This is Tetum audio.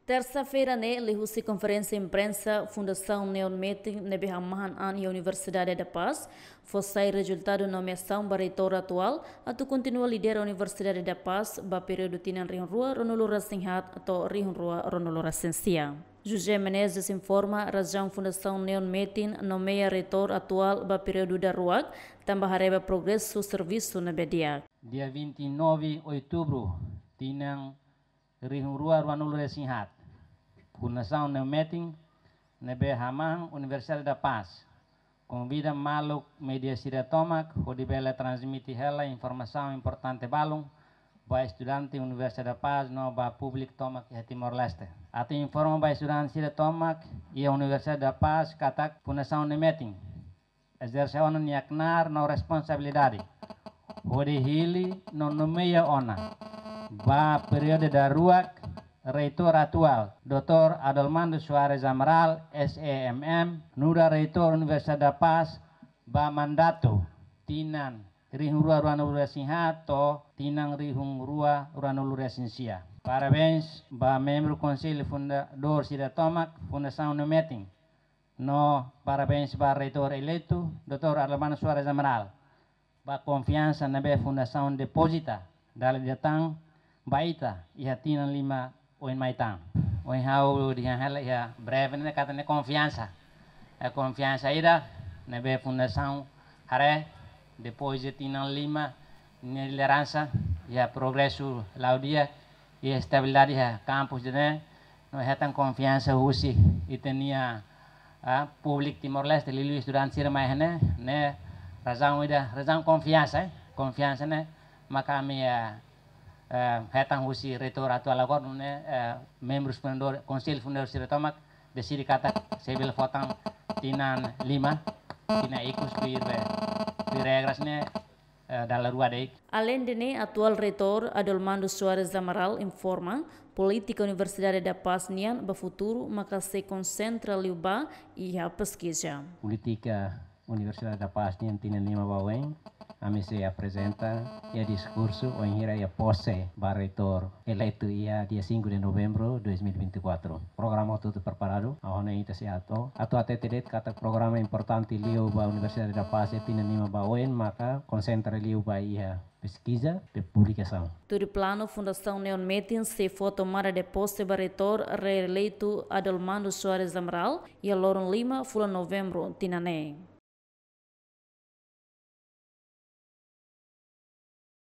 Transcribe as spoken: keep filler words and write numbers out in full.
Tersa-feira ne'e, liuhusi konferénsia imprensa Fundasaun Neon Metin ne'ebé hamahan an iha Universidade da Paz, fó sai rezultadu nomeasaun ba reitór atuál, atu kontinua lidera Universidade da Paz ba períodu tinan rihun rua ruanulu resin haat to'o rihun rua ruanulu resin sia. José Menezes informa razaun Fundasaun Neon Metin nomeia reitór atuál ba períodu daruak, tanba haree ba progresu servisu ne'ebé di'ak. Dia vinte e nove Outubru, tinan rihun rua ruanulu resin haat, Fundasaun Neon Metin ne'ebé hamahan Universidade da Paz konvida maluk média sira tomak hodi bele transmite hela informasaun importante balun ba estudante Universidade da Paz no ba públiku tomak iha Timor-Leste. Atu informa ba estudante sira tomak iha Universidade da Paz katak Fundasaun Neon Metin ezerse ona nia knaar no responsabilidade hodi hili no nomeia ona ba períodu daruak reitór atuál, doutór Adolmando Soares Amaral, S E M M, nu'udar reitór Universidade da Paz ba mandatu tinan rihun rua ruanulu resin haat to'o tinan rihun rua ruanulu resin sia. Parabéns ba membru konsellu fundadór sira tomak Fundasaun Neon Metin. No parabéns ba reitór eleitu, doutór Adolmando Soares Amaral, ba konfiansa ne'ebé Fundasaun depozita dala ida tan ba ita iha tinan lima oin mai tan. Ohin ha'u dehan hela iha breve ne'e katak ne'e konfiansa. É konfiansa ida ne'ebé Fundasaun haree depois de tinan lima nia lideransa iha progresu la'o di'ak, iha estabilidade iha kampus ida-ne'e, no hetan konfiansa husi ita-nia, ah, públiku Timor-Leste, liuliu estudante sira mai iha ne'e, ne'e razaun ida, razaun konfiansa, eh, konfiansa ne'e maka ami, eh, eh, hetan husi reitór atuál agora, ne'e, eh, membru fundadór, konsellu fundadór sira tomak deside katak sei bele fó tan tinan lima, tinan ikus tuir, eh, tuir regras ne'e, eh, dala rua de'it. Aleinde ne'e, atuál reitór Adolmando Soares Amaral informa, polítika Universidade da Paz nian ba futuru maka sei konsentra liu ba iha peskiza. Polítika Universidade da Paz nian tinan lima ba oin, ami sei aprezenta iha diskursu wainhira iha pose ba reitór eleitu iha dia cinco de novembro dois mil e vinte e quatro. Programa hotu-hotu preparadu, agora ita sei atu, atu hatete de'it katak programa importante liu ba Universidade da Paz iha tinan lima ba oin maka konsentra liu ba iha peskiza no publikasaun. Tuir planu, Fundasaun Neon Metin sei fó tomada de pose ba reitór reeleitu Adolmando Soares Amaral iha loron lima fulan Novembru tinan ne'e.